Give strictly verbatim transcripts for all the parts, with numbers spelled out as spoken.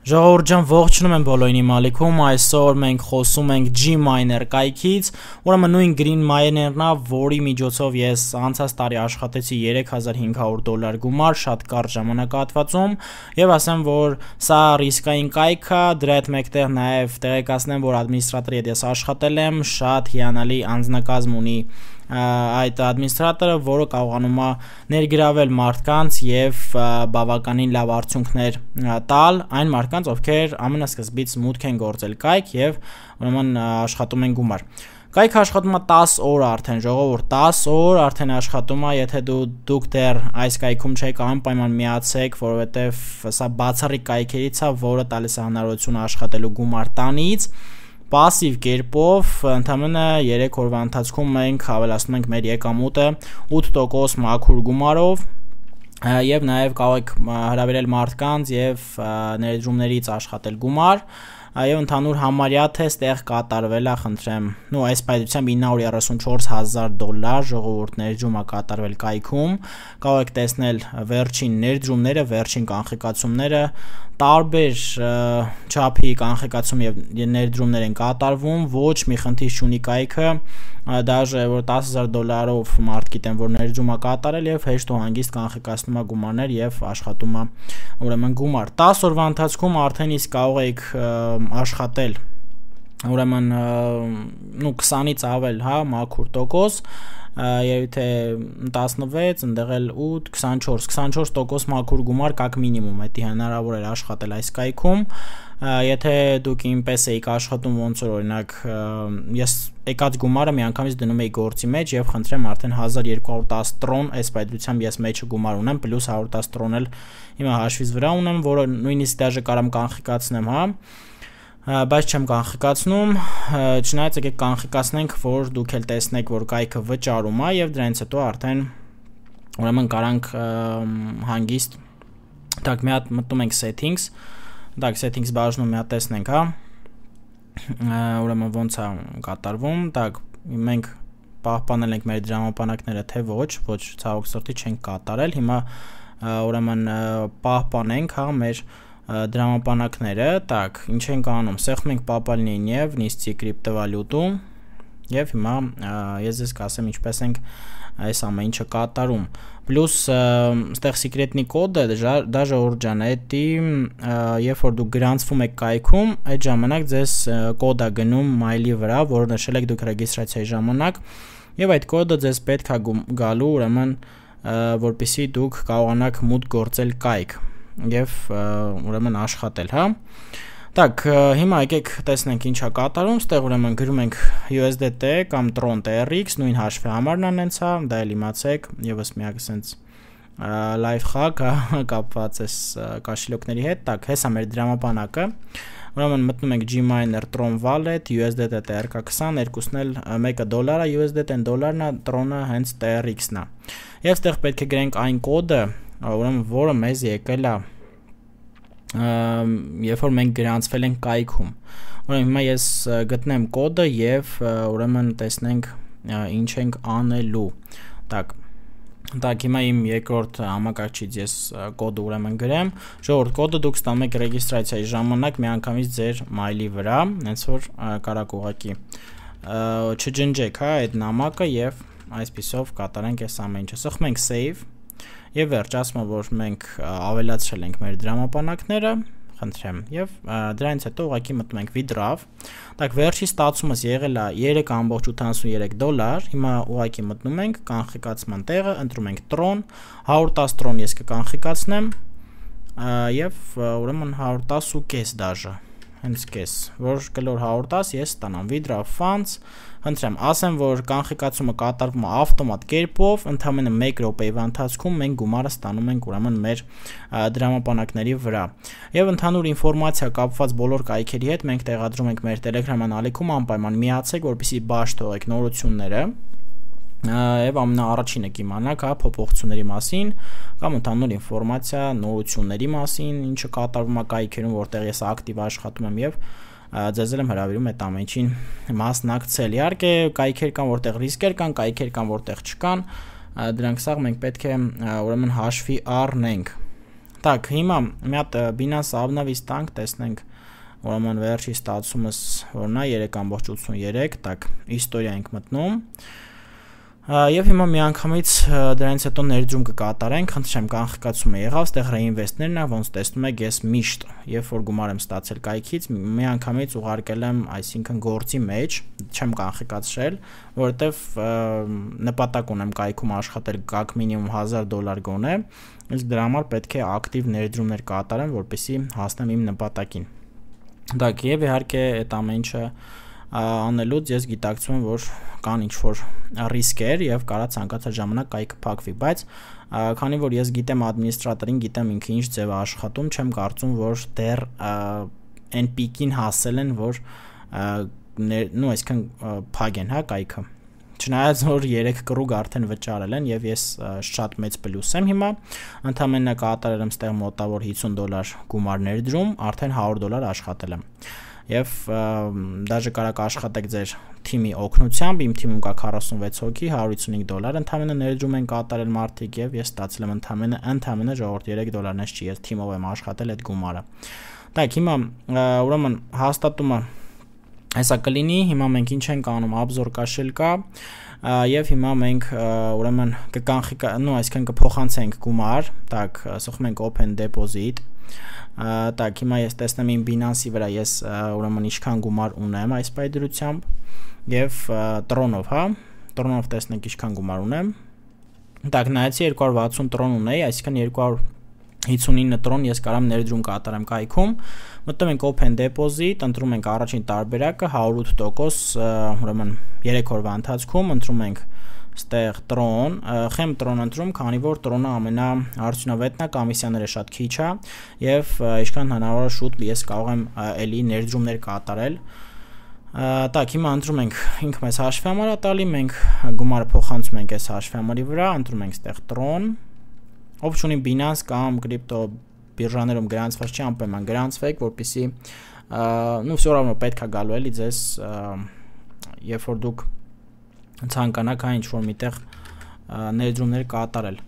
Ժողովուրդ ջան, ողջունում եմ բոլորին իմ ալիքում, այսօր մենք խոսում ենք Gminer կայքից, ուրեմն նույն Green Miner-ն է, որի միջոցով ես անցած տարի աշխատեցի երեք հազար հինգ հարյուր դոլար գումար, շատ կարճ ժամանակահատվածում, եւ ասեմ, որ սա ռիսկային կայք է, դրա հետ մեկտեղ նաեւ տեղեկացնեմ, որ ադմինիստրատորի հետ ես աշխատել եմ, շատ հիանալի անձնակազմ ունի այդ ադմինիստրատորը, որը կարողանում է ներգրավել մարդկանց եւ բավականին լավ արդյունքներ տալ այն մարդկանց, ովքեր ամենասկզբից մուտք են գործել կայք եւ ուրեմն աշխատում են գումար։ Կայքը աշխատում է տասը օր արդեն, ժողովուրդ, տասը օր արդեն աշխատում է, եթե դու դուք դեռ այս կայքում չեք, անպայման միացեք, որովհետեւ սա բացառիկ կայքերից է, որը տալիս է հնարավորություն աշխատելու գումար տանից։ Պասիվ կերպով ընդամենը երեք օրվա ընթացքում մենք ավելացնում ենք մեր եկամուտը ութ տոկոս մաքուր գումարով եւ նաեւ կարող եք հրավիրել մարդկանց եւ ներդրումներից աշխատել գումար եւ ընդհանուր համարյա թեստ տեղ կատարվել է, խնդրեմ, նո այս պայծությամբ ինը հարյուր երեսունչորս հազար դոլար ժողովուրդ ներդրում է կատարվել կայքում, կարող եք տեսնել վերջին ներդրումները, վերջին կանխիկացումները, տարբեր չափի կանխիկացում եւ ներդրումներ են կատարվում, ոչ մի խնդիր չունի կայքը, դաժե որ տասը հազար դոլարով մարդ գիտեն, որ ներդրում է կատարել եւ հեշտ ու հանգիստ կանխիկացնում է գումարներ եւ աշխատում է ուրեմն գումար։ տասը օրվա ընթացքում արդեն իսկ կարող եք աշխատել ուրեմն նու քսանից ավել, հա, մաքուր տոկոս եւ թե տասնվեց, ընդեղ էլ ութ, քսանչորս, քսանչորս տոկոս մաքուր գումար կակ մինիմում, դա հնարավոր է աշխատել այս կայքում։ Եթե դուք ինպես եք աշխատում, ոնց որ օրինակ ես եկած գումարը միանգամից դնում էի գործի մեջ եւ խնդրեմ արդեն հազար երկու հարյուր տասը տրոն այս պայծությամբ ես մեջը գումար ունեմ, պլյուս հարյուր տասը տրոն էլ հիմա հաշվից վրա ունեմ, որը նույնիսկ դաժե կարամ կանխիկացնեմ, հա, բայց չեմ կանխիկացնում, չնայած եկեք կանխիկացնենք, որ դուք էլ տեսնեք, որ կայքը վճարում է եւ դրանից հետո արդեն ուրեմն կարանք հանգիստ так մի հատ մտնում ենք settings, так settings բաժնում մի հատ տեսնենք, հա, ուրեմն ոնց է կատարվում, так մենք պահպանել ենք մեր դրամապանակները, թե ոչ, ոչ ցավոք սրտի չենք կատարել, հիմա ուրեմն պահպանենք, հա, մեր դրամապանակները, так, ինչ ենք անում, սեղմում ենք պապալնին եւ նիստի կրիպտովալյուտու եւ հիմա ես ձեզ կասեմ ինչպես ենք այս ամեն ինչը կատարում։ Պլյուս այստեղ սեկրետնի կոդը, դա ժողովուրդ ջան, էդի երբ որ դուք գրանցվում եք կայքում, այդ ժամանակ ձեզ կոդ է գնում մայլի վրա, որը նշել եք դուք ռեգիստրացիայի ժամանակ եւ այդ կոդը ձեզ պետք է գալու ուրեմն որպեսզի դուք կարողանաք մուտք գործել կայք եւ ուրեմն աշխատել, հա։ Так, հիմա եկեք տեսնենք ինչա կատարում, ստեղ ուրեմն գրում ենք յու էս դի թի կամ Tron T R X, նույն հաշվի համարն անենց, հա, դա էլ իմացեք, եւս միակ sense live hack կապված է կաշիլոկների հետ, так, հեսա մեր դրամապանակը։ Ուրեմն մտնում ենք Gminer Tron Wallet, յու էս դի թի T R K քսան, երկուսն էլ մեկը դոլար է, յու էս դի թի-ն դոլարն է, Tron-ը հենց T R X-ն է։ Եվ ստեղ պետք է գրենք այն կոդը, ուրեմն որը մեզ եկել է երբ որ մենք գրանցվել ենք կայքում։ Ուրեմն հիմա ես գտնեմ կոդը եւ ուրեմն տեսնենք ինչ ենք անելու։ Так, так, հիմա իմ երկրորդ համակարգչից ես կոդը ուրեմն գրեմ։ Ժողովուրդ, կոդը դուք ստանում եք ռեգիստրացիայի ժամանակ միանգամից ձեր մայլի վրա, հենց որ կարաք ուղակի չջնջեք, հա, այդ նամակը եւ այսպիսով կատարենք այս ամեն ինչը։ Սխմում ենք save եւ վերջ, ասում եմ, որ մենք ավելացրել ենք մեր դրամապանակները, խնդրեմ, եւ դրանից հետո ուղղակի մտնում ենք withdraw, так վերջի ստացումս եղել է երեք կόμma ութանասունյերեք դոլար, հիմա ուղղակի մտնում ենք կանխիկացման տեղը, ընտրում ենք Tron, հարյուր տասը Tron ես կկանխիկացնեմ եւ ուրեմն հարյուր տասը ու կես դաժե, հենց կես, որ կլոր հարյուր տասը ես ստանամ withdraw funds, խնդրեմ, ասեմ, որ կանխիկացումը կատարվում է ավտոմատ կերպով, ընդամենը մեկ րոպեի ընթացքում մենք գումարը ստանում ենք ուրեմն մեր դրամապանակների վրա։ Եվ ընդհանուր ինֆորմացիա կապված բոլոր կայքերի հետ մենք տեղադրում ենք մեր Telegram ալիքում, անպայման միացեք, որպեսզի բաշխ թողեք նորությունները եւ ամենաառաջինը կիմանաք, հա, փոփոխությունների մասին կամ ընդհանուր ինֆորմացիա նորությունների մասին, ինչը կատարվում է կայքերում, որտեղ ես ակտիվ աշխատում եմ եւ ձեզ եմ հրավիրում այդ ամեն ինչին մասնակցել։ Իհարկե կայքեր կան, որտեղ ռիսկեր կան, կայքեր կան, որտեղ չկան, դրանք սաղ մենք պետք է ուրեմն հաշվի առնենք։ Так, հիմա մի հատ Binance Avnavis տանք, տեսնենք ուրեմն վերջի ստացումս որն է երեք կόμma ութսուն երեք, так, իստորիա ենք մտնում։ Եվ հիմա միանգամից դրանից հետո ներդրում կկատարենք, խնդրեմ կանխիկացումը եղավ, ստեղ reinvest-ներն է, ոնց տեսնում եք, ես միշտ, երբ որ գումար եմ ստացել կայքից, միանգամից ուղարկել եմ, այսինքն գործի մեջ, չեմ կանխիկացրել, որովհետև նպատակ ունեմ կայքում աշխատել գաք մինիմում հազար դոլար գոնե, իսկ դրա համար պետք է ակտիվ ներդրումներ կատարեմ, որպեսզի հասնեմ իմ նպատակին։ Так, եւ իհարկե այդ ամեն ինչը անելուց ես գիտակցում եմ, որ կան ինչ-որ ռիսկեր եւ կարա ցանկացած ժամանակ կայքը փակվի, բայց քանի որ ես գիտեմ ադմինիստրատորին, գիտեմ ինքը ինչ ձև է աշխատում, չեմ կարծում, որ դեռ այն պիկին հասել են, որ նո այսքան փագեն, հա, կայքը։ Չնայած որ երեք կռուգ արդեն վճարել են եւ ես շատ մեծ պլյուս եմ հիմա, ընդամենը կատարել եմ ստեղ մոտավոր հիսուն դոլար գումար ներդրում, արդեն հարյուր դոլար աշխատել եմ։ Եվ դաժե կարաք աշխատեք ձեր թիմի օգնությամբ, իմ թիմում կա քառասունվեց հոգի, հարյուր հիսունհինգ դոլար, ընդամենը ներդրում են կատարել մարդիկ եւ ես ստացել եմ ընդամենը ընդամենը ժողովուրդ երեք դոլարն էս չի, ես թիմով եմ աշխատել այդ գումարը։ Так, հիմա ուրեմն հաստատումը հեսա կլինի, հիմա մենք ինչ ենք անում, Abzor կաշելկա եւ հիմա մենք ուրեմն կկանխիկա, նո, այսինքն կփոխանցենք գումար, так, ասում ենք open deposit, так, հիմա ես տեսնեմ իմ Binance-ի վրա ես ուրեմն ինչքան գումար ունեմ այս պայդրությամբ եւ Tron-ով, հա, Tron-ով տեսնենք ինչքան գումար ունեմ, так, նայեցի երկու հարյուր վաթսուն Tron ունեի, այսինքն երկու հարյուր հիսունինը Tron ես կարամ ներդրում կատարեմ կայքում, մտնում ենք open deposit, ընտրում ենք առաջին տարբերակը հարյուր ութ տոկոս, ուրեմն երեք օրվա ընթացքում ընտրում ենք ստեղ Tron, խեմ Tron ընտրում, քանի որ Tron-ը ամենաարդյունավետն է, կոմիսիաները շատ քիչ է եւ ինչքան հնարավոր է շուտ ես կարող եմ էլի ներդրումներ կատարել։ Так, հիմա ընտրում ենք ինքը մեզ հաշվի համար է տալի, մենք գումարը փոխանցում ենք այս հաշվի համարի վրա, ընտրում ենք ստեղ Tron, ով չունի Binance կամ կրիպտո բիրժաներում գրանցված չի, անպայման գրանցվեք, որպեսզի նու все равно պետք է գալու էլի ձեզ, երբ որ դուք ցանկանաք այն ինչ-որ միտեղ ներդրումներ կատարել։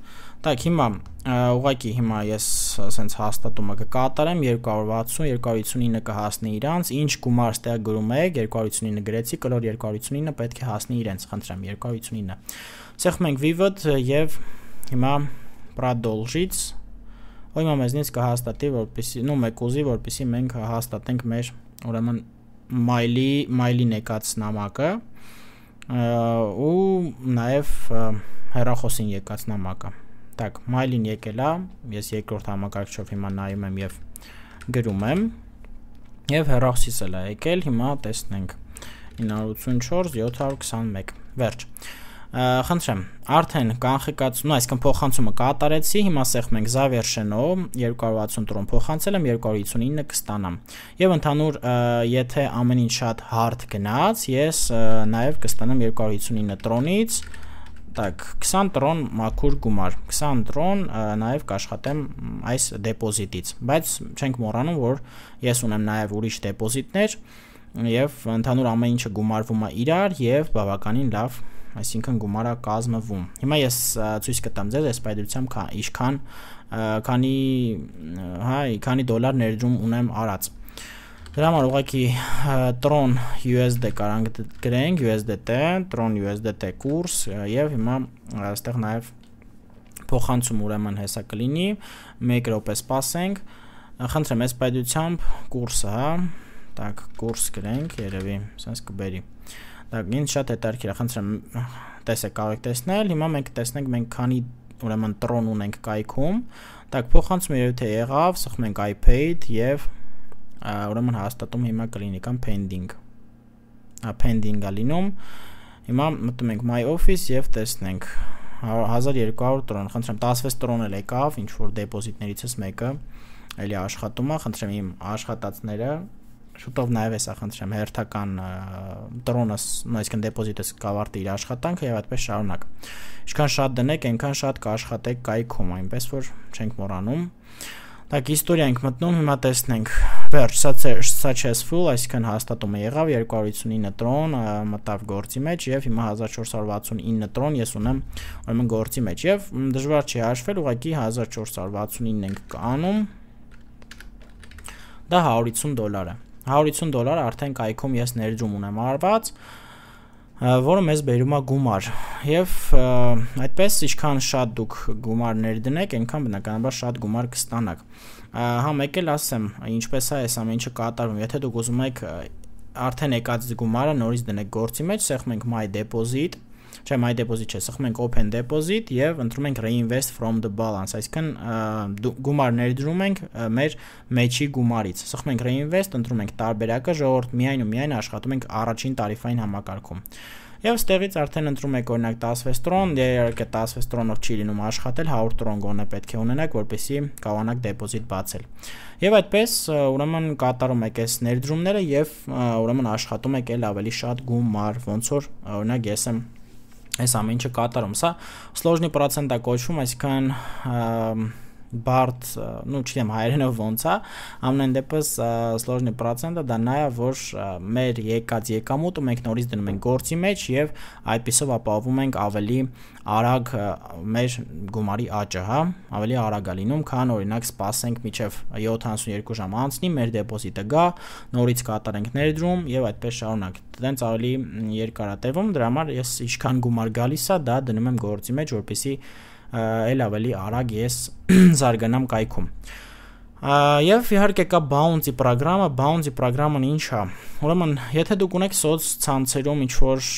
Так, հիմա ուղղակի հիմա ես ասենց հաստատումը կկատարեմ, երկու հարյուր վաթսուն, երկու հարյուր հիսունինը կհասնի իրանց, ինչ գումար ստեղ գրում եք, երկու հարյուր հիսունինը գրեցի, կլոր երկու հարյուր հիսունինը պետք է հասնի իրենց, խնդրեմ, երկու հարյուր հիսունինը։ Սեղմում ենք Vivid եւ հիմա Продолжить, ո՞յ հիմա մեզնից կհաստատի, որպեսզի, նո մեկ ուզի, որպեսզի մենք հաստատենք մեր ուրեմն մայլի, մայլի նեկած նամակը ու նաև հեռախոսին եկած նամակը։ Так, մայլին եկել է, ես երկրորդ համակարգչով հիմա նայում եմ եւ գրում եմ եւ հեռախոսից էլ է եկել, հիմա տեսնենք ինը հարյուր ութսունչորս յոթ հարյուր քսանմեկ, վերջ։ Խնդրեմ, արդեն կանխիկացում, այսինքն փոխանցումը կատարեցի, հիմա սեղմում ենք Zaversheno, երկու հարյուր վաթսուն Tron փոխանցել եմ, երկու հարյուր հիսունինը կստանամ։ Եվ ընդհանուր, եթե ամեն ինչ շատ hard գնաց, ես նաև կստանամ երկու հարյուր հիսունինը Tron-ից, так, քսան Tron մաքուր գումար, քսան Tron նաև կաշխատեմ այս դեպոզիտից, բայց չենք մոռանում, որ ես ունեմ նաև ուրիշ դեպոզիտներ եւ ընդհանուր ամեն ինչը գումարվում է իրար եւ բավականին լավ, այսինքն գումարը կազմվում։ Հիմա ես ցույց կտամ ձեզ այս պայդրությամբ ինչքան քանի հա քանի դոլար ներդրում ունեմ արած։ Դրա համար ուղղակի Tron յու էս դի կարանք գրենք, յու էս դի թի, Tron յու էս դի թի կուրս եւ հիմա այստեղ նաեւ փոխանցում ուրեմն հեսա կլինի, մեկ րոպե սպասենք։ Խնդրեմ այս պայդրությամբ կուրսը, հա, так, կուրս գրենք, երևի, sense կբերի։ Так, ինձ շատ հետաքրքիր է, խնդրեմ, տեսեք, կարող եք տեսնել, հիմա մենք տեսնենք մենք քանի ուրեմն Tron ունենք կայքում, так, փոխանցումը երևի թե եղավ, սխում ենք I paid եւ ուրեմն հաստատում հիմա կլինի կամ pending։ Ա pending-ա լինում։ Հիմա մտնում ենք My Office եւ տեսնենք հազար երկու հարյուր Tron, խնդրեմ, տասնվեց Tron էլ եկավ, ինչ որ դեպոզիտներիցս մեկը էլի աշխատում է, խնդրեմ իմ աշխատածները շուտով նաև էսա խնդրեմ հերթական Tron-ը, այսինքն դեպոզիտը կավարտի իր աշխատանքը եւ այդպես շարունակ։ Ինչքան շատ դնեք, այնքան շատ կաշխատեք կայքում, այնպես որ չենք մոռանում։ Так, իստորիա ենք մտնում, հիմա տեսնենք վերջ, successful, այսինքն հաստատումը եղավ, երկու հարյուր հիսունինը տրոն մտավ գործի մեջ եւ հիմա հազար չորս հարյուր վաթսունինը տրոն ես ունեմ ուրեմն գործի մեջ եւ դժվար չի հաշվել, ուղղակի հազար չորս հարյուր վաթսունինն ենք անում, դա հարյուր հիսուն դոլար է, հարյուր հիսուն դոլար արդեն կայքում ես ներդրում ունեմ արված, որը մեզ բերում է գումար եւ այդպես ինչքան շատ դուք գումար ներդնեք, այնքան բնականաբար շատ գումար կստանաք։ Հա մեկ էլ ասեմ, ինչպես է այս ամենը կատարվում, եթե դուք ուզում եք արդեն եկած գումարը նորից դնեք գործի մեջ, սեղմում ենք my deposit, չէ my deposit չէ, սեղմում ենք open deposit եւ ընտրում ենք reinvest from the balance, այսինքն գումար ներդրում ենք մեր մեջի գումարից, սեղմում ենք reinvest, ընտրում ենք տարբերակը, ժողովուրդ միայն ու միայն աշխատում ենք առաջին տարիֆային համակարգում։ Եվ ստեղից արդեն ընտրում եք օրինակ տասնվեց տրոն, իհարկե տասնվեց տրոնով չի լինում աշխատել, հարյուր տրոն գոնե պետք է ունենաք, որպեսզի կարողանաք դեպոզիտ բացել։ Եվ այդպես ուրեմն կատարում եք այս ներդրումները եւ ուրեմն աշխատում եք էլ ավելի շատ գումար, ոնց որ օրինակ ես եմ այս ամենը կատարում, սա սլոժնի պրոցենտ է կոչվում, այսինքն բարդ, ну չգիտեմ հայերենով ոնց է, ամեն դեպս սլոժնի պրոցենտը դա նա է, որ մեր եկած եկամուտը մենք նորից դնում ենք գործի մեջ եւ այդպիսով ապահովում ենք ավելի արագ մեր գումարի աճը, հա, ավելի արագ է լինում, քան օրինակ սպասենք մինչեւ յոթանասունյերկու ժամ անցնի, մեր դեպոզիտը գա, նորից կատարենք ներդրում եւ այդպես շարունակ։ Դենց ավելի երկար է տևում, դրա համար ես ինչքան գումար գալիս է, դա դնում եմ գործի մեջ, որպեսզի էլ ավելի արագ ես զարգանամ կայքում։ Եվ իհարկե կա bounty ծրագրամը, bounty ծրագրամն ինչ է։ Ուրեմն, եթե դուք ունեք սոց ցանցերում ինչ-որ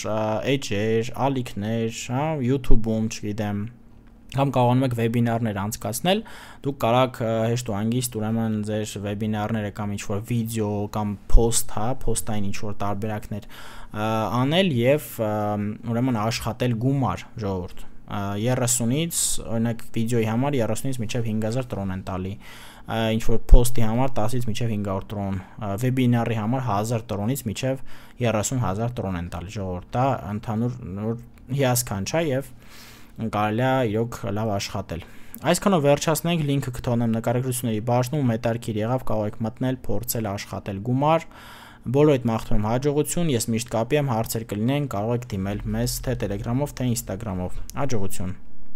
էջեր, ալիքներ, հա, YouTube-ում, չգիտեմ, կամ կարողանում եք վեբինարներ անցկացնել, դուք կարող հեշտ ու հանգիստ ուրեմն ձեր վեբինարները կամ ինչ-որ վիդեո կամ post, հա, post-ային ինչ-որ տարբերակներ անել եւ ուրեմն աշխատել գումար, ժողովուրդ։ երեսունից օրինակ վիդեոյի համար երեսունից մինչև հինգ հազար տրոն են տալի, ինչ որ post-ի համար տասից մինչև հինգ հարյուր տրոն, վեբինարի համար հազար տրոնից մինչև երեսուն հազար տրոն են տալի, ժողովուրդ, դա ընդհանուր հիասքանչ է եւ կարելի է իրոք լավ աշխատել։ Այսքանով վերջացնենք, լինքը կթողնեմ նկարագրությունների բաժնում, հետաքրքիր եղավ, կարող եք մտնել, փորձել աշխատել գումար։ Բոլորիդ մաղթում եմ հաջողություն, ես միշտ կապի եմ, հարցեր կլինեն, կարող եք դիմել մեզ թե Telegram-ով, թե Instagram-ով։ Հաջողություն։